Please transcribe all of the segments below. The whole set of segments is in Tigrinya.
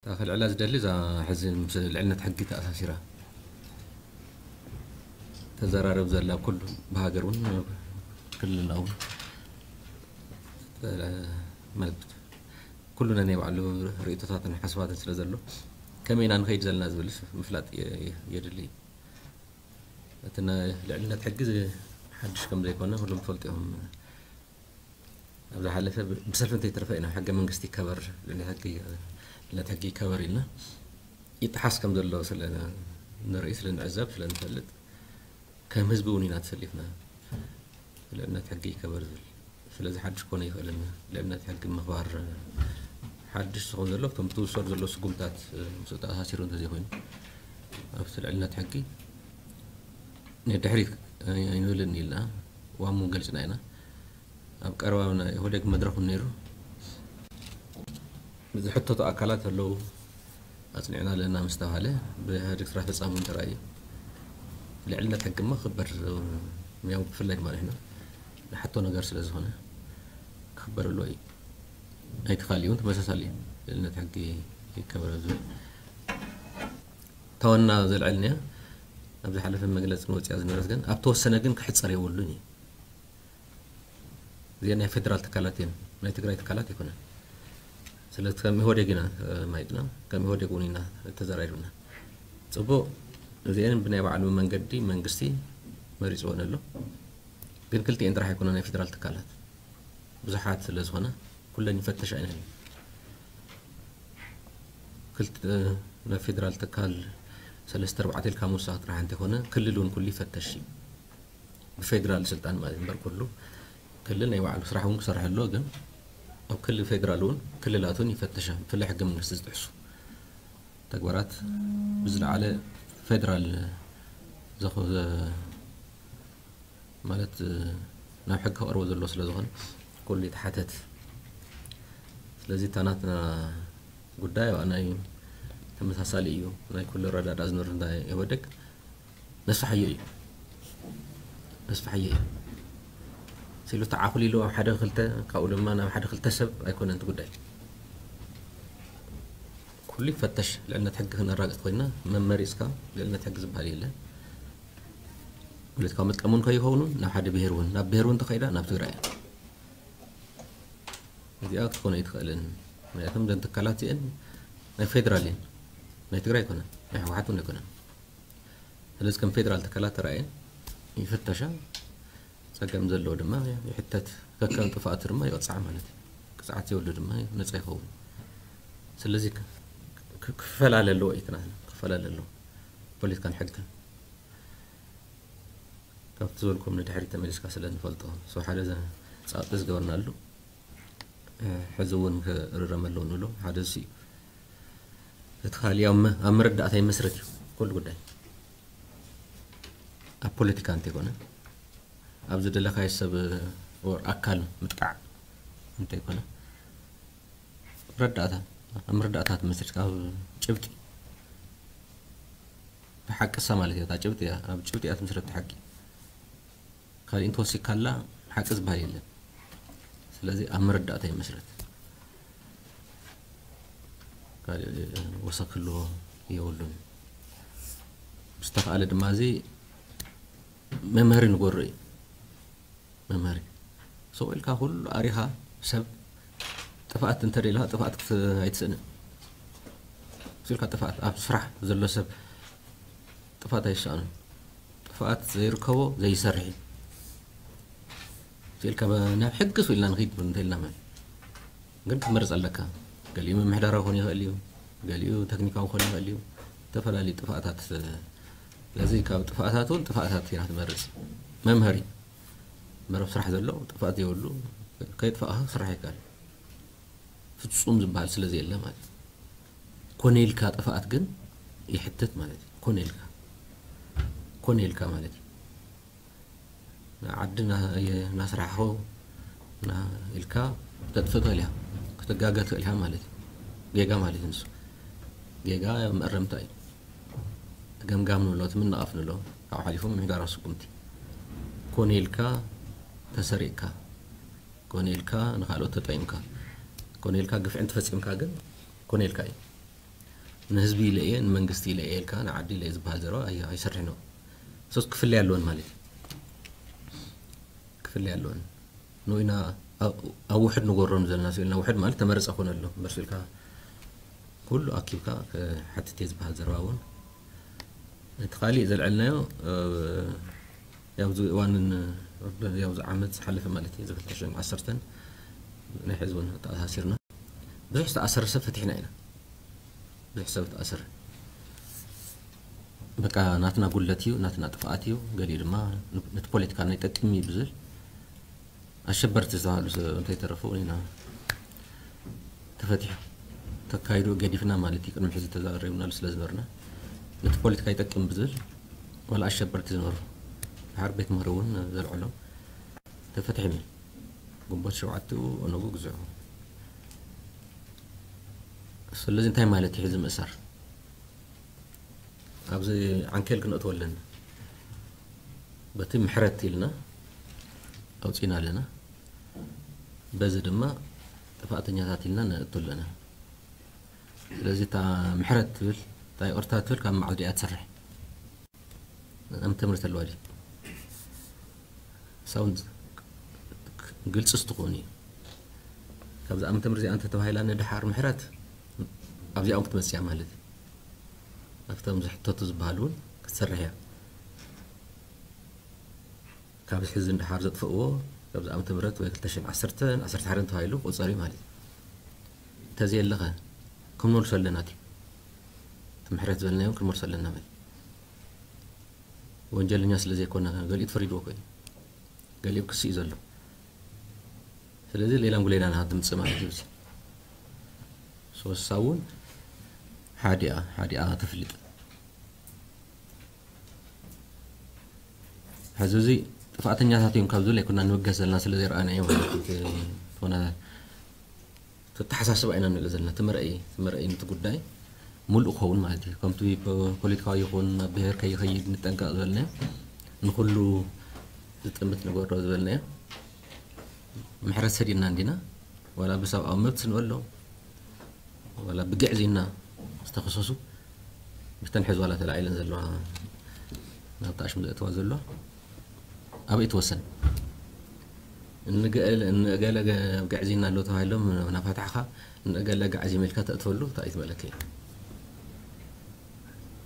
እታ ክልዕላ ዝደሊ እዛ ሕዚ ምስ ልዕልነት ሕጊ ተኣሳሲራ ተዘራረብ ዘላ ኩሉ ብሃገር እውን ክልልና እውን ማለት ኩሉ ነናይ ባዕሉ ርእቶታትን ሓሳባትን ስለ ዘሎ ከመይ ኢና ንኸይድ ዘለና ዝብል ምፍላጥ የ- የ- የድሊ እዩ። እቲ ናይ ልዕልነት ሕጊ ዝ- ሓድሽ ከም ዘይኮነ ኩሎም ትፈልጡ እዮም። ኣብ ዝሓለፈ ብ- ብሰልፊ እንተይተረፈ ኢና ሕገ መንግስቲ ይከበር፣ ልዕልነት ሕጊ ልዕልነት ሕጊ ይከበር ኢልና ይጠሓስ ከም ዘሎ ስለ ንርኢ ስለ ንዕዘብ ስለ ንፈልጥ ከም ህዝቢ እውን ኢና ተሰሊፍና ልዕልነት ሕጊ ይከበር ዝብል። ስለዚ ሓድሽ ክኾነ ይኽእልን ልዕልነት ሕጊ ምኽባር ሓድሽ ዝኸውን ዘሎ እቶም ትውሰዱ ዘሎ ስጉምታት ምስኡ ተኣሳሲሩ እንተዘይኮይኑ ኣብቲ ልዕልነት ሕጊ ንድሕሪት ኣይንብልን ኢልና ዋሙ ገሊፅና ኢና። ኣብ ቀረባ ናይ ኢህወዴግ መድረኽ እውን ነይሩ። ዝሕተቱ ኣካላት ኣለዉ ኣፅኒዕና ኣለና ምስ ተባሃለ ብኢህወዴግ ስራሕ ፈፃሚ እውን ተራእዩ። ልዕልነት ሕጊ እሞ ክበር ያው ብፍላይ ድማ ንሕና ንሓቶ ነገር ስለ ዝኾነ ክኽበር ኣለዎ እዩ። ናይቲ ካሊእ እውን ተመሳሳሊ እዩ። ልዕልነት ሕጊ ይከበር ዝብል እታ ዋና ዘልዐልናያ ኣብ ዝሓለፈ መግለፂ ንወፅያ ዝነበረት ግን ኣብ ተወሰነ ግን ክሕፀር የብሉን እዩ። እዚአን ናይ ፌደራል ትካላት እየን፣ ናይ ትግራይ ትካላት ኣይኮነን። ስለዚ ከም ኢህወዴግ ኢና ማይጥና፣ ከም ኢህወዴግ እውን ኢና ተዘራሪብና። ፅቡቅ እዚአን ብናይ ባዕሉ መንገዲ መንግስቲ መሪፅወን ኣሎ። ግን ክልቲኤን ጥራሕ ኣይኮነ ናይ ፌደራል ትካላት ብዙሓት ስለ ዝኾነ ኩለን ይፈተሻ ኢና። ክልተ ናይ ፌደራል ትካል ሰለስተ ኣርባዕተ ኢልካ ምውሳኽ ጥራሕ እንተይኮነ ክልል እውን ኩሉ ይፈተሽ እዩ። ብፌደራል ስልጣን ማለት እምበር ኩሉ ክልል ናይ ባዕሉ ስራሕ እውን ክሰርሕ ኣሎ። ግን ኣብ ክልል ፌደራል እውን ክልላት እውን ይፈተሻ ብፍላይ ሕገ መንግስቲ ዝጥሕሱ ተግባራት ብዝለዓለ ፌደራል ዘኸ ማለት ናብ ሕጊ ክቐርቦ ዘሎ ስለ ዝኾነ ኩሉ ይተሓተት። ስለዚ እታ ናትና ጉዳይ ኣባና እዩ ተመሳሳሊ እዩ። ናይ ኩሉ ረዳዳ ዝነር እንታይ ኢህወደግ ነስፋሓዮ እዩ ነስፋሓዮ እዩ ሲሉ ተዓኹሊሉ ኣብ ሓደ ክልተ ካብኡ ድማ ናብ ሓደ ክልተ ሰብ ኣይኮነን እቲ ጉዳይ። ኩሉ ይፈተሽ። ልዕልነት ሕጊ ክነራግፅ ኮይና መመሪፅካ ልዕልነት ሕጊ ዝበሃል የለን። ፖለቲካዊ መጥቀሙን ከይኸውን ናብ ሓደ ብሄር እውን ናብ ብሄር እውን ተኸይዳ ናብ ትግራይ እያ። እዚኣ ክትኮነ ኣይትኽእልን። ምክንያቱም ዘን ትካላት እዚአን ናይ ፌደራል እየን፣ ናይ ትግራይ ኣይኮነን፣ ናይ ህወሓት እውን ኣይኮነን። ስለዚ ከም ፌደራል ትካላት ተራእየን ይፍተሻ፣ ፀገም ዘለዎ ድማ ይሕተት፣ ከከም ጥፍኣቱ ድማ ይቕፃዕ ማለት እዩ። ቅፅዓት ዘይብሉ ድማ ነፃ ይኸውን። ስለዚ ክ- ክ- ክፈላለ ኣለዎ እዩ ትናትና ክፈላለ ኣለዎ ፖለቲካን ሕግን። ካብቲ ዝበልኩም ንድሕሪት ተመሊስካ ስለ ንፈልጦ ሰው ሓደ ዘ- ፃብጢ ዝገበርናሉ ሕዚ እውን ክእረም ኣለዎ ንብሎ ሓደ እሱ እዩ። እቲ ካልእ ኣብ መ- ኣብ መረዳእታ ይመስረት እዩ ኩሉ ጉዳይ። ኣብ ፖለቲካ እንተይኮነ ኣብ ዝደለካዮ ሰብ ወር ኣካል ምጥቃዕ እንተይኮነ ረዳእታ ኣብ መረዳእታ ትመስርት ካብ ጭብጢ ብሓቅሳ ማለት እያ። እታ ጭብጢ እያ ኣብ ጭብጢ እያ ትመስረት ሓቂ። ካልእ እንተወሲካላ ሓቂ ዝበሃል የለን። ስለዚ ኣብ መረዳእታ ይመስረት። ካልእ ወሰክ ክህልዎ የብሉን። ዝተኻእለ ድማ እዚ መምሃሪ ንጎሮ እዩ። መምሃሪ ሰው ኢልካ ኩሉ ኣሪኻ ሰብ ጥፍኣት እንተደላ ጥፍኣት ክት- ኣይትስእንን። ስኢልካ ጥፍኣት ኣብ ስራሕ ዘሎ ሰብ ጥፍኣት ኣይሰኣኑን። ጥፍኣት ዘይርከቦ ዘይሰርሕ እዩ። ስኢልካ ናብ ሕጊ ስኢልና ንኽይድ እንተኢልና ማለት ግን ክትመርፅ ኣለካ። ገሊኡ ምምሕዳራዊ ክኾን ይኽእል እዩ፣ ገሊኡ ተክኒካዊ ክኾን ይኽእል እዩ። ዝተፈላለዩ ጥፍኣታት ስለዚ ካብ ጥፍኣታት እውን ጥፍኣታት ኢና ትመርፅ። መምሃሪ መረብ ስራሕ ዘሎ ጥፍኣት የብሉ። ከይጥፋእኻ ስራሕ ይካል ፍፁም ዝበሃል ስለ ዘየለ ማለት እዩ። ኮነ ኢልካ ጥፍኣት ግን ይሕትት ማለት እዩ። ኮነ ኢልካ ኮነ ኢልካ ማለት እዩ። ንዓዲ እናስራሕኹ ኢልካ ክተጥፍእ ትኽእል ኢኻ ክትጋገ ትኽእል ኢኻ ማለት እዩ። ጌጋ ማለት እዩ ንሱ ጌጋ መእረምታ እዩ። ገምጋም ንብሎ እቲ ምንቓፍ ንብሎ ካብኡ ሓሊፉ ምሕዳራዊ ስጉምቲ ኮነ ኢልካ ተሰሪቕካ ኮነ ኢልካ ንኻልኦት ተጠቂምካ ኮነ ኢልካ ግፍዒ እንተፈፂምካ ግን ኮነ ኢልካ እዩ። ንህዝቢ ኢለ እየ፣ ንመንግስቲ ኢለ እየ ኢልካ ንዓዲ ኢለ እየ ዝበሃል ዘረባ ኣይ- ኣይሰርሕን። ሶስ ክፍለያ ኣለወን ማለት እዩ። ክፍለያ ኣለወን። ንኢና ኣብ ውሕድ ንጎሮም ዘለና ስኢልና፣ ውሕድ ማለት ተመረፀ ኮነ ኣሎ እምበር ስኢልካ ኩሉ ኣኪብካ ሓትት እየ ዝበሃል ዘረባ እውን እቲ ካሊእ ዘልዐልናዮ ኣብዚ እዋንን ኣብዚ ዓመት ዝሓለፈ ማለት እዩ፣ እዚ ክልተ ሽሕን ዓሰርተን ናይ ሕዚ እውን ተኣሳሲርና ብዙሕ ዝተኣሰረ ሰብ ፈቲሕና ኢና። ብዙሕ ሰብ ተኣሰረ። በቃ ናትና ጉለት እዩ፣ ናትና ጥፍኣት እዩ። ገሊኡ ድማ ነቲ ፖለቲካ ናይ ጠቅም እዩ ብዝብል ኣሸበርቲ ዝተባሃሉ ሰብ እንተይተረፉ ኢና ተፈቲሑ ተካይዱ ገዲፍና ማለት እዩ። ቅድሚ ሕዚ ተዛሪብናሉ ስለ ዝነበርና ነቲ ፖለቲካ ይጠቅም ብዝብል ዋላ ኣሸበርቲ ዝነበሩ ድሓር ቤት ምህሪ እውን ዘልዕሎም ተፈቲሖም እዮም። ግንቦት ሸውዓተ ኦነጉ ግዝዑ። ስለዚ እንታይ ማለት እዩ ሕዚ ምእሳር? ኣብዚ ዓንኬል ክነእትዎ ኣለና። በቲ ምሕረት ኢልና ኣውፂና ኣለና። በዚ ድማ ጥፋእተኛታት ኢልና ነእቱ ኣለና። ስለዚ እታ ምሕረት ትብል እታ ይቕርታ ትብል ካብ መዓልቲ እያ ትሰርሕ። ኣመተ ምህረት ኣለዋ ድዩ? ሳውንድ ግልፂ ስትኾን እዩ። ካብዚ ኣመተ ምህረት እዚኣ እንተተባሂላ ንድሓር ምሕረት ኣብዚኣኦም ክትመፅያ ማለት እዩ። ኣብቶም ዝሕተቱ ዝበሃሉ እውን ክትሰርሕ እያ። ካብ ሕዚ ንድሓር ዘጥፍእዎ ካብዚ ዓመተ ምህረት ወይ ክልተ ሽሕን ዓሰርተን ዓሰርተ ሓደን ተባሂሉ ክቑፀር እዩ ማለት እዩ። እንተዘየለኸ ክንመልሶ ኣለና፣ እቲ እቲ ምሕረት ዝበልናዮ ክንመልሶ ኣለና ማለት እዩ። ወንጀለኛ ስለ ዘይኮነ ገሊኡ ተፈሪድዎ ኮይኑ ገሊኡ ክሲ እዩ ዘሎ። ስለዚ ሌላም ጉሌላ ናሃ ትምፅእ ማለት እዩ። ሶሳ እውን ሓዲኣ ሓዲኣ ትፍልጥ። ሕዚ እዚ ጥፍኣተኛታት እዮም ካብ ዝብል ኣይኮና ንብገስ ዘለና ስለ ዘይረኣናዮ ማለት እዩ። ዝኾነ ተተሓሳስባ ኢና ንርኢ ዘለና። ትመርአይ ትመርአይ ነቲ ጉዳይ ሙሉእ ክኸውን ማለት እዩ። ከምቲ ፖለቲካዊ ይኹን ኣብ ብሄር ከይኸይድ ንጠንቀቕ ዝበልናዮ ንኩሉ ዝጥምት ንገብሮ ዝበልናዮ ምሕረት ሰዲድና እንዲና ዋላ ብሰብኣዊ መብት ንበሎ ዋላ ብግዕዝይና ዝተኸሰሱ ብተን ሕዝባላ ተላዒለን ዘለዋ ናብቲ ኣሽሙ ዘእተዋ ዘሎ ኣበይ ትወሰን? እንገለ ግዕዝይና ኣሎ ተባሂሎም ናፋታሕኻ እንገለ ጋዕዚ መልካ ተእትወሉ እንታይ ትመለከ?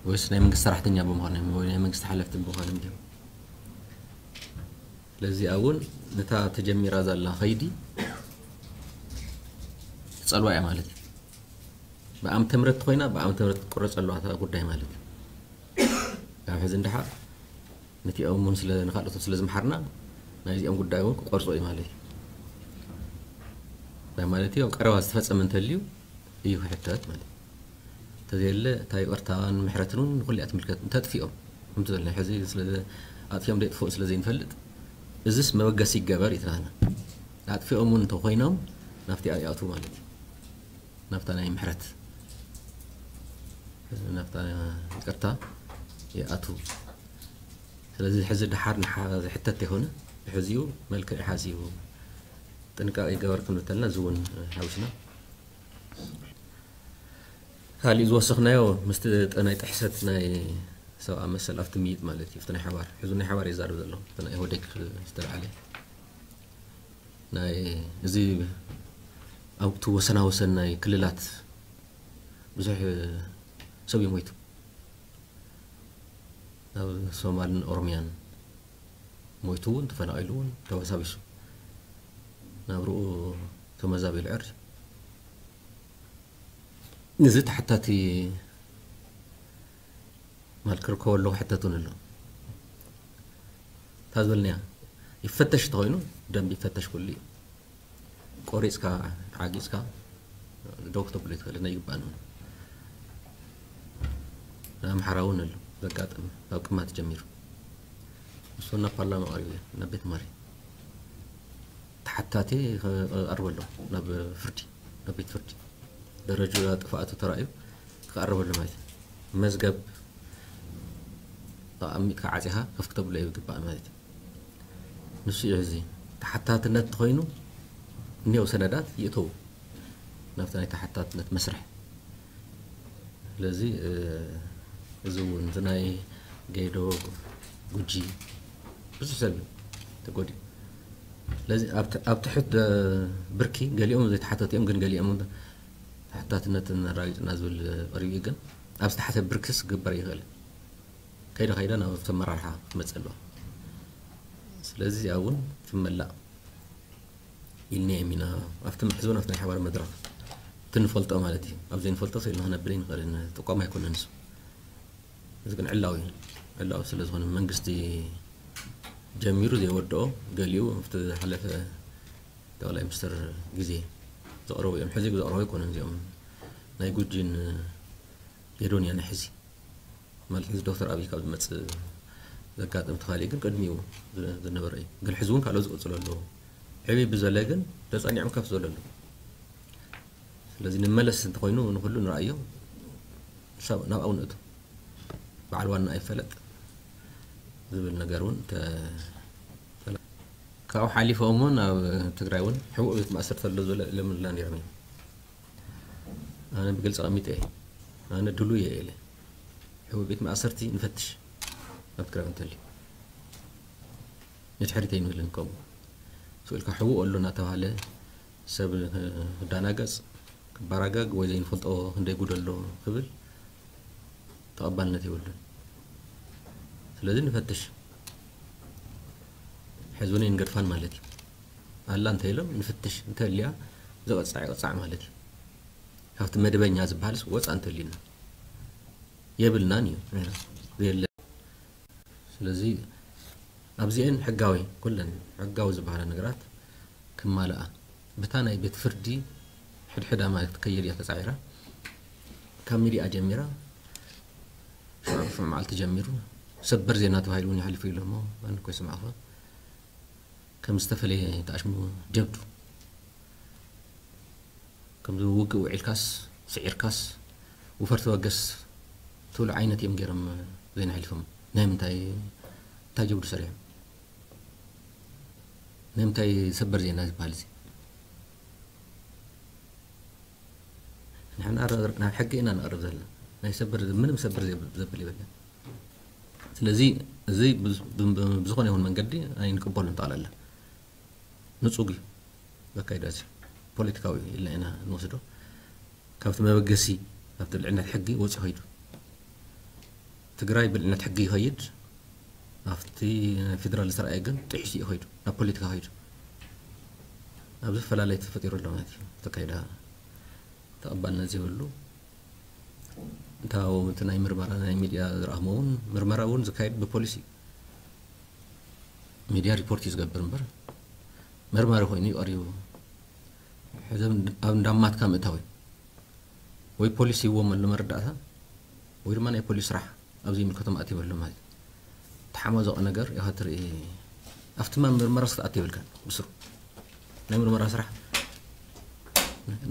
ወይስ ናይ መንግስቲ ሰራሕተኛ ብምዃኖም ወይ ናይ መንግስቲ ሓለፍቲ ብምዃኖም ድዮም? ስለዚኣ እውን ነታ ተጀሚራ ዘላ ኸይዲ ትፀልዋ እያ ማለት እዩ። ብኣምተ ምረት ኮይና ብኣምተ ምረት ቁረፅ ኣለዋ እታ ጉዳይ ማለት እዩ። ካብ ሕዚ እንድሓር ነቲኦም እውን ስለ ንካልኦቶም ስለ ዝምሓርና ናይዚኦም ጉዳይ እውን ክቆርፁ እዩ ማለት እዩ። እንታይ ማለት እዩ? ኣብ ቀረባ ዝተፈፀመ እንተልዩ እዩ ክሕተት ማለት እዩ። እንተዘየለ እታ ይቕርታን ምሕረትን እውን ንኩሉ እያ ትምልከት። እንተጥፊኦም ከምቲ ዘለና ሕዚ ስለ ኣጥፊኦም ደይጥፍኡ ስለ ዘይንፈልጥ እዚስ መበገሲ ይገበር ይትናና ኣጥፊኦም እውን እንተኮይኖም ናብቲ ይኣቱ ማለት እዩ። ናብታ ናይ ምሕረት ናብታ ይቅርታ ይኣቱ። ስለዚ ሕዚ ድሓር ዝሕተት ይኮነ ሕዚኡ መልክዕ ሓዚቡ ጥንቃቄ ይገበር ክንብል ተለና እዚ እውን ሓዊስና ካሊእ ዝወሰኽናዮ ምስቲ ናይ ጥሕሰት ናይ ሰብኣ መሰል ኣብቲ ምይጥ ማለት እዩ። ናይ ሓባር ሕዚ ናይ ሓባር ይዛረብ ዘሎ ናይ ኢህወዴግ ዝተለዓለ ናይ እዚ ኣብቲ ወሰና ወሰን ናይ ክልላት ብዙሕ ሰብ እዩ ሞይቱ። ኣብ ሶማልን ኦሮሚያን ሞይቱ እውን ተፈናቒሉ እውን ተበሳቢሱ ናብርኡ ተመዛቢሉ ዕር እዚ ተሓታቲ ማለት ክርከቦ ኣለዎ ሕተት እውን ኣሎ። እታ ዝበልናያ ይፈተሽ እንተኮይኑ ደንብ ይፈተሽ ኩሉ እዩ። ቆሪፅካ ዓጊፅካ ደው ክተብሎ ይትኽእል ናይ ይግባእ ንብል ኣምሓራ እውን ኣሎ ዘጋጥም ካብ ቅማት ጀሚሩ ንሱ ናብ ፓርላማ ቀሪቡ እዩ ናብ ቤት ማሪ ተሓታቲ ክቐርበሎ ናብ ፍርዲ ናብ ቤት ፍርዲ ደረጃ ጥፍኣቱ ተራእዩ ክቐርበሉ ማለት እዩ። መዝገብ ኣቐሚጥካ ዓፂኻ ከፍ ክተብሎ ይግባእ ማለት እዩ። ንሱ እዩ እዚ ተሓታትነት ተኮይኑ እኒው ሰነዳት ይእተው ናብቲ ናይ ተሓታትነት መስርሕ ስለዚ እዚ እውን ናይ ጌዶ፣ ጉጂ ብዙሕ ሰብ እዩ ተጎዲኡ። ስለዚ ኣብ ትሕት ብርኪ ገሊኦም ዘይተሓተቱ እዮም፣ ግን ገሊኦም ተሓታትነትን ኣራጊፅና ዝብል ቀሪቡ እዩ። ግን ኣብ ዝተሓተ ብርክስ ክግበር ይኽእል። ከይዳ ከይዳ ናብ ኣመራርሓ ክመፅእ ኣለዋ። ስለዚ እዚኣ እውን ትመላእ ኢልናዮም ኢና። ኣብቲ ምሕዝውን ኣብቲ ናይ ሓባር መድረኽ እቲ ንፈልጦ ማለት እዩ። ኣብ ዘይንፈልጦ ስኢልና ክነብል ኣይንኽእልን። ጥቆማ ኣይኮነን እሱ። እዚ ግን ዕላዊ እዩ። ዕላዊ ስለ ዝኾነ መንግስቲ ጀሚሩ ዘይወድኦ ገሊኡ ኣብቲ ዝሓለፈ ጠቕላይ ሚኒስትር ግዜ ዘቕረቡ እዮም። ሕዚ ዘቕረቡ ኣይኮነን እዚኦም ናይ ጉጂን ጌዶን እያ ንሕዚ ማለት ሕዚ ዶክተር ኣብይ ካብ ዝመፅእ ዘጋጥም ተኻሊ ግን ቅድሚኡ ዝነበረ እዩ። ግን ሕዚ እውን ካልኦ ዝቕፅሎ ኣለዎ። ዕብይ ብዘለ ግን ተፀኒዖም ከፍ ዝበለ ኣለዎ። ስለዚ ንመለስ እንተኮይኑ ንኩሉ ንረኣዮ ናብኣው ንእቱ በዓል ዋና ኣይፈለጥ ዝብል ነገር እውን ካብኡ ሓሊፎም እውን ኣብ ትግራይ እውን ሕቡእ ቤት ማእሰርቲ ኣሎ ዝበለ ለምላ ነይሮም እዮም። ኣነ ብግልፂ ቀሚጠ እየ። ኣነ ድሉ እየ ኢለ ሕቡእ ቤት ማእሰርቲ ንፈትሽ ኣብ ትግራይ እንተልዩ ንድሕሪት ኣይንብልን። ከምኡ ስኢልካ ሕቡእ ኣሎ እናተባሃለ ሰብ ክዳናገፅ ክበራገግ ወይ ዘይንፈልጦ ክንደይ ጉድ ኣሎ ክብል ተቐባልነት የብሉን። ስለዚ ንፈትሽ ሕዚ እውን ንገድፋን ማለት እዩ። ኣላ እንተ ኢሎም ንፍትሽ እንተልያ ዝቐፃዕ ይቐፃዕ ማለት እዩ። ካብቲ መደበኛ ዝበሃልስ ወፃ እንተሊና የብልናን እዩ የለ። ስለዚ ኣብዚአን ሕጋዊ ኩለን ሕጋዊ ዝበሃላ ነገራት ክማልኣ ብታ ናይ ቤት ፍርዲ ሕድሕዳ ማለት ትከይድ እያ ተፃዒራ ካብ ሚዲያ ጀሚራ ሽዑ ሽዑ መዓልቲ ጀሚሩ ሰበር ዜና ተባሂሉ እውን ይሓልፉ ኢሎሞ ኣነ እኮ ይስማዕኹ ከም ዝተፈለየ ተኣሽሙ ጀብዱ ከምዚ ውግእ ውዒልካስ ስዒርካስ ውፈር ተበገስ ትብሉ ዓይነት እዮም ገይሮም ዜና ሓሊፎም ናይ ምንታይ እንታይ ጀብዱ ሰሪሖም ናይ ምንታይ ሰበር ዜና ዝበሃል እዚ ንሕና ናብ ሕጊ ኢና ንቐርብ ዘለና ናይ ሰበር ምንም ሰበር ዘብል ይበለ ስለዚ እዚ ብዝኾነ ይኹን መንገዲ ኣይንቅበሉን ጠቕላላ ንጹግ እዩ ዘካይዶ እዚ ፖለቲካዊ ኢልና ኢና ንወስዶ ካብቲ መበገሲ ኣብቲ ልዕልነት ሕጊ ወፂ ይኸይዱ ትግራይ ብልዕልነት ሕጊ ይኸይድ ኣብቲ ፌደራል ዝተረኣየ ግን ጥሒሱ ይኸይዱ ናብ ፖለቲካ ይኸይዱ ኣብዚ ፈላለይ ተፈጢሩ ኣሎ ማለት እዩ ተካይዳ ተቐባልነት ዘይብሉ እንታው እቲ ናይ ምርመራ ናይ ሚድያ ዝረኣኽሞ እውን ምርመራ እውን ዝካየድ ብፖሊሲ ሚድያ ሪፖርት እዩ ዝገብር እምበር መርማሪ ኮይኑ እዩ ቀሪቡ ሕዚ ኣብ እንዳማትካ ምእታው እዩ ወይ ፖሊስ ይዎም ኣሎ መረዳእታ ወይ ድማ ናይ ፖሊስ ስራሕ ኣብዚ ይምልከቶም ኣትበሎ ማለት ተሓማዘቐ ነገር ኢኻ ትርኢ ኣብቲ ምርመራ ክትኣት ይብልካ ብስሩ ናይ ምርመራ ስራሕ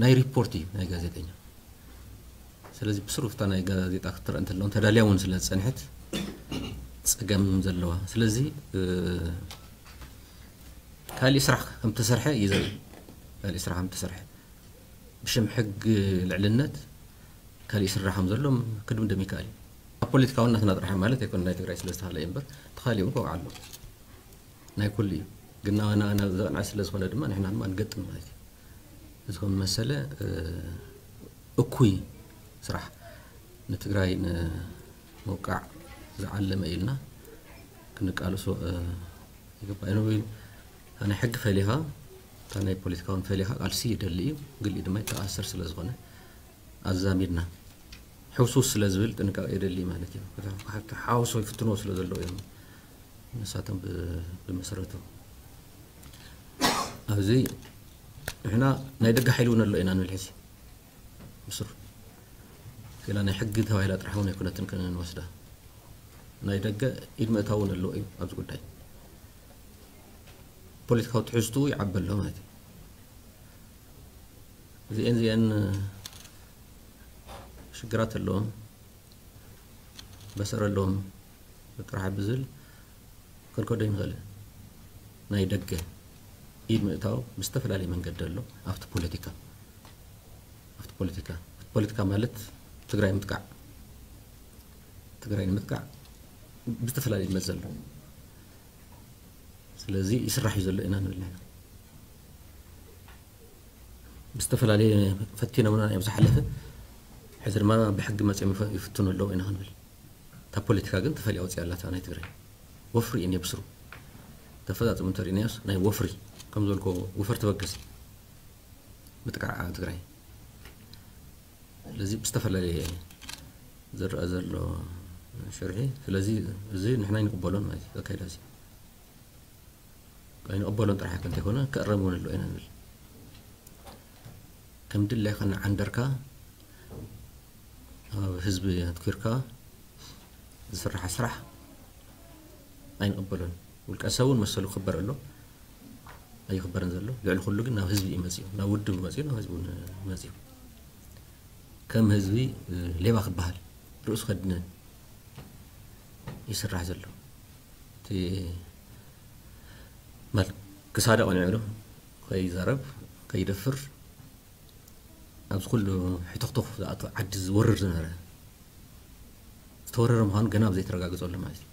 ናይ ሪፖርት እዩ ናይ ጋዜጠኛ ስለዚ ብስሩ ፍታ ናይ ጋዜጣ ክትረአ እንተለውን ተዳልያ እውን ስለ ዝፀንሐት ፀገም ዘለዋ ስለዚ ካሊእ ስራሕ ከም ተሰርሐ እዩ ዘርኢ ካሊእ ስራሕ ከም ተሰርሐ ብሽም ሕግ ልዕልነት ካሊእ ስራሕ ከም ዘሎ ክድምደም ይከኣል እዩ ኣብ ፖለቲካዊ እናትና ጥራሕ ማለት ኣይኮነ ናይ ትግራይ ስለ ዝተሃለ እዩ እምበር ተኻሊኡ ከውዓ ኣሎ ናይ ኩሉ እዩ ግን ናባና ዘቕንዐ ስለ ዝኾነ ድማ ንሕና ድማ ንገጥም ማለት እዩ እዚ ከም መሰለ እኩይ ስራሕ ንትግራይ ንምውቃዕ ዝዓለመ ኢልና ክንቃልሶ ይግባእ እዩ ናይ ሕጊ ፈሊኻ እታ ናይ ፖለቲካውን ፈሊኻ ቃልሲ ይደሊ እዩ ግሊ ድማ ይተኣሰር ስለ ዝኾነ ኣዛሚድና ሕውስውስ ስለ ዝብል ጥንቃቄ የደሊ ማለት እዩ ሓውሶ ይፍትንዎ ስለ ዘለዉ እዮም ንሳቶም ብመሰረቱ ኣብዚ ንሕና ናይ ደገ ሓይሊ እውን ኣሎ ኢና ንብል ሕዚ ብስሩ ላ ናይ ሕጊ ተባሂላ ጥራሕ እውን ኣይኮነትን ክንወስዳ ናይ ደገ ኢድ ምእታው እውን ኣለዎ እዩ ኣብዚ ጉዳይ ፖለቲካዊ ትሕዝትኡ ይዓቢ ኣሎ ማለት እዩ እዚአን እዚአን ሽግራት ኣለዎም በሰር ኣለዎም ጥራሕ ብዝብል ክንከዶ ይንኽእል ናይ ደገ ኢድ ምእታው ብዝተፈላለየ መንገዲ ኣሎ ኣብቲ ፖለቲካ ኣብቲ ፖለቲካ ፖለቲካ ማለት ትግራይ ምጥቃዕ ትግራይ ንምጥቃዕ ብዝተፈላለየ መዘ ኣሎ። ስለዚ ይስራሕ እዩ ዘሎ ኢና ንብል ኣለና። ብዝተፈላለየ ፈቲኖምና እዮም ዝሓለፈ። ሕዚ ድማ ብሕጊ መፅኦም ይፈ- ይፍትኑ ኣለዉ ኢና ክንብል። እታ ፖለቲካ ግን ተፈልያ ወፂኣ ኣላታ ናይ ትግራይ። ወፍሪ እየን የብስሩ። ተፈፃፅሙ እንተሪእናዮስ ናይ ወፍሪ ከም ዝበልኮ ወፈር ተበገስ ምጥቃዕ ትግራይ። ስለዚ ብዝተፈላለየ ዝረኣ ዘሎ ሽርሒ። ስለዚ እዚ ንሕና ኣይንቕበሎን ማለት እዩ ኣካይዳ እዚ ኣይንቕበሎን ጥራሕ እንተይኮነ ክእረም እውን ኣለዎ ኢና ንብል። ከም ድላይካ እናዓንደርካ ኣብ ህዝቢ ኣትኪርካ ዝስራሕ ስራሕ ኣይንቕበሎን። ውልቀ ሰብ እውን መሰሉ ክኽበር ኣሎ ኣይኽበርን ዘሎ። ልዕሊ ኩሉ ግን ናብ ህዝቢ እዩ መፅኡ፣ ናብ ውድብ መፅኡ፣ ናብ ህዝቢ እውን መፅኡ። ከም ህዝቢ ሌባ ክበሃል ርእሱ ከድነ ይስራሕ ዘሎ። እቲ ማለት ክሳደ ቀኒዑ ዶ ከይዛረብ ከይደፍር ኣብዚ ኩሉ ሕተኽተኽ ዝኣቱ ዓዲ ዝወርር ዝነበረ ዝተወረረ ምዃኑ ገና ኣብ ዘይተረጋግፀሉ ማለት እዩ።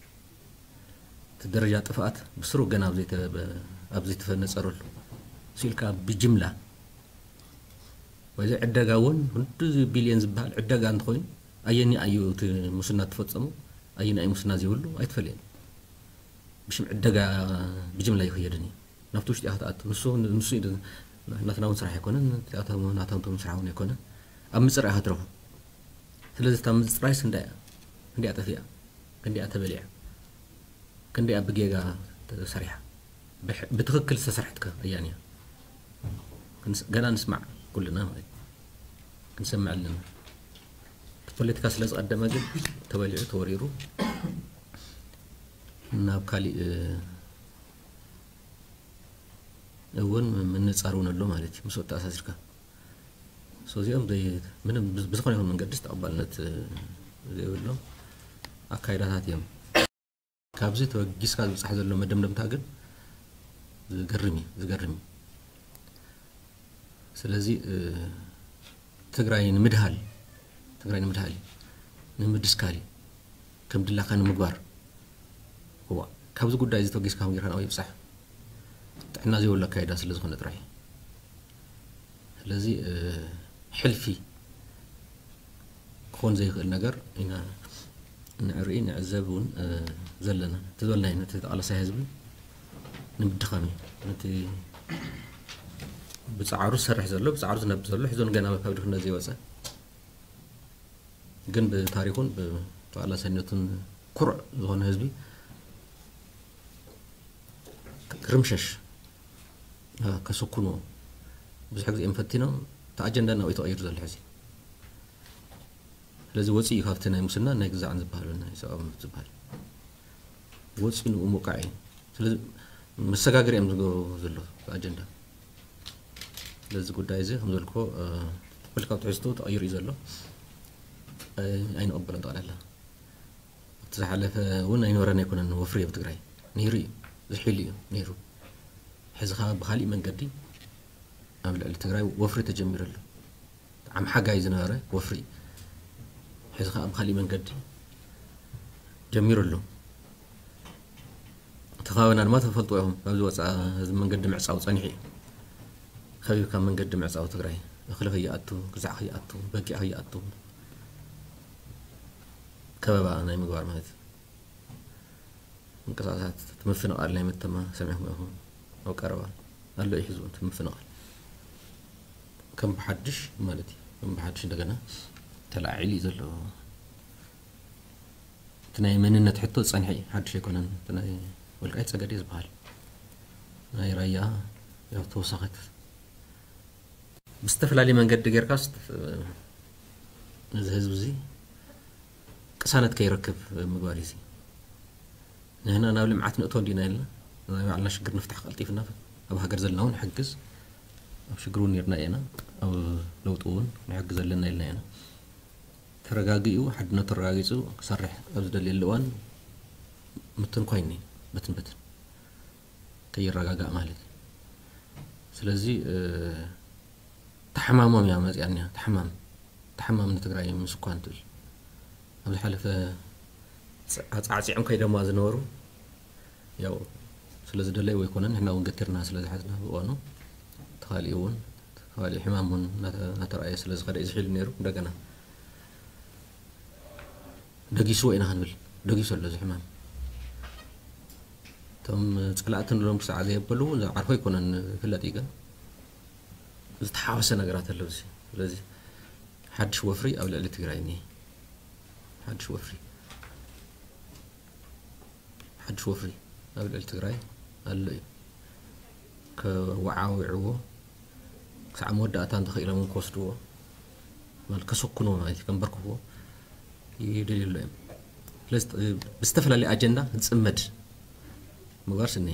እቲ ደረጃ ጥፍኣት ብስሩ ገና ኣብ ዘይተ- ኣብ ዘይተፈነፀረሉ ስኢልካ ብጅምላ ወዚ ዕደጋ እውን ክንዲ ቢልዮን ዝበሃል ዕደጋ እንተኾይኑ ኣየኒ ኣዩ እቲ ሙስና ትፈፀሙ ኣየኒ ኣዩ ሙስና ዘይብሉ ኣይትፈልየን። ብሽም ዕደጋ ብጅምላ ይኽየድን እዩ። ናብቲ ውሽጢ ኢኻ ትኣቱ። ንሱ ንሱ እዩ ናትና እውን ስራሕ ኣይኮነን። ናታንቶም ስራሕ እውን ኣይኮነን። ኣብ ምፅራይ ኢኻ ትረኽቦ። ስለዚ እታ ምፅራይስ እንዳ እያ እንዲያ ጠፊኣ ክንዲኣ ተበሊዓ ክንዲኣ ብጌጋ ተሰሪሓ ብትኽክል ዝተሰርሐት ከ ኣያን እያ? ገና ንስማዕ ኩልና ማለት እዩ። ክንሰምዕ ኣለና። እቲ ፖለቲካ ስለ ዝቐደመ ግን ተበሊዑ ተወሪሩ ናብ ካሊእ እውን ምንፃር እውን ኣሎ ማለት እዩ። ምስኡ ተኣሳሲርካ እዚኦም ምንም ብዝኾነ ይኹን መንገዲ ተቐባልነት ዘይብሎም ኣካይዳታት እዮም። ካብዚ ተበጊስካ ዝብፃሕ ዘሎ መደምደምታ ግን ዝገርም እዩ ዝገርም እዩ። ስለዚ ትግራይ ንምድሃል ትግራይ ንምድሃል እዩ ንምድስካል እዩ ከም ድላካ ንምግባር እዋ ካብዚ ጉዳይ እዚ ተበጊስካ ከም ጌርካ ናብኡ ይብፃሕ ጥዕና ዘይብሉ ኣካይዳ ስለ ዝኾነ ጥራሕ እዩ። ስለዚ ሕልፊ ክኾን ዘይኽእል ነገር ኢና ንርኢ ንዕዘብ እውን ዘለና እቲ ዝበልናዮ ነቲ ተቓላሳይ ህዝቢ ንምድኻም እዩ ነቲ ብፃዕሩ ዝሰርሕ ዘሎ ብፃዕሩ ዝነብ ዘሎ ሕዞን ገና ካብ ድኽነት ዘይወፀ ግን ብታሪኹን ብተቓላሳይነቱን ኩሩዕ ዝኾነ ህዝቢ ክርምሸሽ ከስኩኑ ብዙሕ ግዜ እዮም ፈቲኖም። እቲ ኣጀንዳ ናብኡ ተቐይሩ ዘሎ ሕዚ። ስለዚ ወፂኡ ካብቲ ናይ ሙስና ናይ ግዛዕን ዝበሃሉ ናይ ሰብኣዊ መብት ዝበሃል ወፂኡ ንኡ ምውቃዕ እዩ። ስለዚ መሰጋገሪ እዮም ዝገብሩ ዘሎ ኣጀንዳ። ስለዚ ጉዳይ እዚ ከም ዘልኮ ፖለቲካዊ ትሕዝቶ ተቐይሩ እዩ ዘሎ። ኣይንቐበሎን ጠቕላላ ኣብቲ ዝሓለፈ እውን ኣይነበረን ኣይኮነን ወፍሪ ኣብ ትግራይ ነይሩ እዩ ዝሒሉ እዩ ነይሩ ሕዚ ከዓ ብካሊእ መንገዲ ኣብ ልዕሊ ትግራይ ወፍሪ ተጀሚሩ ኣሎ ዓም ሓጋይ ዝነበረ ወፍሪ ሕዚ ከዓ ብካሊእ መንገዲ ጀሚሩ ኣሎ እቲ ከባቢና ድማ ተፈልጥዎ ኢኹም ካብዚ ወፃ እዚ መንገዲ ምዕፃው ፀኒሑ እዩ ከቢብካ መንገዲ ምዕፃው ትግራይ እኽሊ ከይኣቱ ግዛዕ ከይኣቱ በጊዕ ከይኣቱ ከበባ ናይ ምግባር ማለት እዩ። ምንቅስቃሳት እቲ ምፍንቓል ናይ መተማ ሰሚዕኩም ኢኹም። ኣብ ቀረባ ኣሎ እዩ ሕዚ እውን እቲ ምፍንቓል ከም ብሓድሽ ማለት እዩ ከም ብሓድሽ እንደገና ተላዒሉ እዩ ዘሎ። እቲ ናይ መንነት ሕቶ ዝፀንሐ እዩ ሓድሽ ኣይኮነን። እቲ ናይ ወልቃይት ፀገዴ ዝበሃል ናይ ራያ ያው ተወሳኺት ብዝተፈላለየ መንገዲ ጌርካስ እዚ ህዝቢ እዚ ቅሳነት ከይረክብ ምግባር እዩ። ንሕና ናብ ልምዓት ንእቶ እንዲና ኢልና ናይ ባዕልና ሽግር ንፍታሕ ቀልጢፍና ኣብ ሃገር ዘለና እውን ንሕግዝ ኣብ ሽግር እውን ነርና ኢና ኣብ ለውጢ እውን ንሕግዝ ኣለና ኢልና ኢና። ተረጋጊኡ ሓድነቱ ተረጋጊፁ ክሰርሕ ኣብ ዝደልየሉ እዋን ምትንኳይ እኒ በትን በትን ከይረጋጋእ ማለት እዩ። ስለዚ ተሓማሞም እያ መፅያ እኒያ ተሓማም ተሓማም ንትግራይ ምስ እኳ እንትብል ኣብ ዝሓለፈ ኣጻዕጺዖም ከይደማ ዝነበሩ ያው ስለ ዝደለዩ ኣይኮነን፣ ንሕና እውን ገቲርና ስለ ዝሓዝና ብእዋኑ ተኻሊኡ እውን ተኻሊኡ ሕማም እውን እናተ- እናተረኣየ ስለ ዝኸደ እዩ ዝሒሉ ነይሩ። እንደገና ደጊስዎ ኢና ክንብል ደጊሱ ኣሎ እዚ ሕማም። እቶም ጸላእቲ ንሎም ክሳዕ ዘየበሉ ዓርፎ ኣይኮነን ይፍለጥ እዩ፣ ግን ዝተሓወሰ ነገራት ኣሎ እዚ። ስለዚ ሓድሽ ወፍሪ ኣብ ልዕሊ ትግራይ እኒሄ። ሓድሽ ወፍሪ ሓድሽ ወፍሪ ኣብ ልዕሊ ትግራይ ኣሎ እዩ። ከወዓውዕዎ ክሳዕ መወዳእታ እንተኽኢሎም እውን ክወስድዎ ማለት ከሰኩንዎ ማለት እዩ፣ ከንበርክኽዎ ይደልዩ ኣሎ እዮም። ስለዚ ብዝተፈላለየ ኣጀንዳ ዝፅመድ ምግባር ስኒ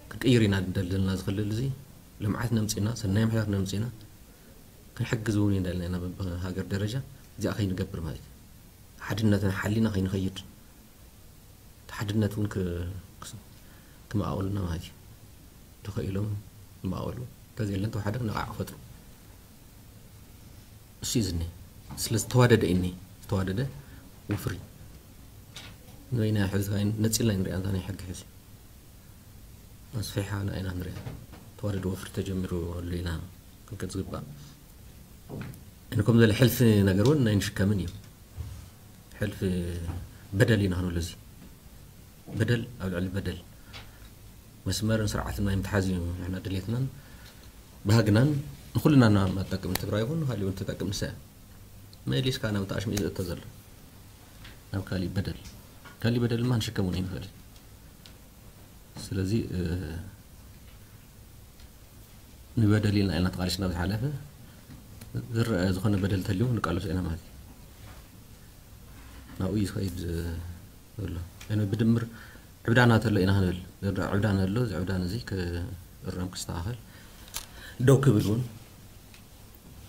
ክንቅይር ኢና ደልና ዝኽልል እዚ ልምዓት ነምፅና ሰናይ ምሕዳር ነምፅና ክንሕግዝ እውን እንዳልና ኢና ብሃገር ደረጃ እዚኣ ከይንገብር ማለት እዩ። ሓድነትና ሓሊና ከይንኸይድ እቲ ሓድነት እውን ክመኣወሉና ማለት እዩ። ተኸኢሎም ይመኣወሉ፣ እንተዘየለን ተዋሓደ ነቓዕ ክፈጥሩ እሱ እዩ ዝኒ። ስለ ዝተዋደደ እኒ ዝተዋደደ ውፍሪ ንበይና ሕዚ ነፂልና ንሪኣ እንታይ ናይ ሕጊ ሕዚ ኣስፊሓ ንኣይና ንሪኣ ተዋደደ ወፍሪ ተጀሚሩ ኣሎ ኢና ክንከድ ዝግባእ። እነ ከም ዘለ ሕልፊ ነገር እውን ናይ ንሽከምን እዩ። ሕልፊ በደል ኢና ክንብሎ እዚ በደል ኣብ ልዕሊ በደል መስመርን ስርዓትን ናይ ምትሓዝ እዩ ንሕና ድሌትናን ባህግናን ንኩልና ናማጠቅም ትግራይ ይኹን ንካሊእ እውን ተጠቅም ንሳ እያ። መሊስካ ናብ ተኣሽሚኡ ዝእቶ ዘሎ ናብ ካሊእ በደል ካሊእ በደል ድማ ንሽከም እውን ይንኽእል። ስለዚ ንበደል ኢልና ኢና ተቃሊስና ብዝሓለፈ ዝረአ ዝኾነ በደል ተልዩ ንቃለሶ ኢና ማለት እዩ። ናብኡ እዩ ዝኸይድ ዘሎ። ብድምር ዕብዳና ተሎ ኢና ክንብል ዕብዳን ኣሎ። እዚ ዕብዳን እዚ ክእረም ክስተኻኸል ደው ክብል እውን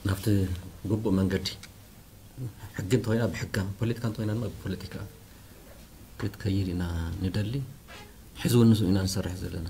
ናብቲ ግቡእ መንገዲ ሕጊ እንተኮይና ብሕጋ ፖለቲካ እንተኮይና ድማ ብፖለቲካ ክትከይድ ኢና ንደሊ። ሕዚ እውን ንሱ ኢና ንሰርሕ ዘለና።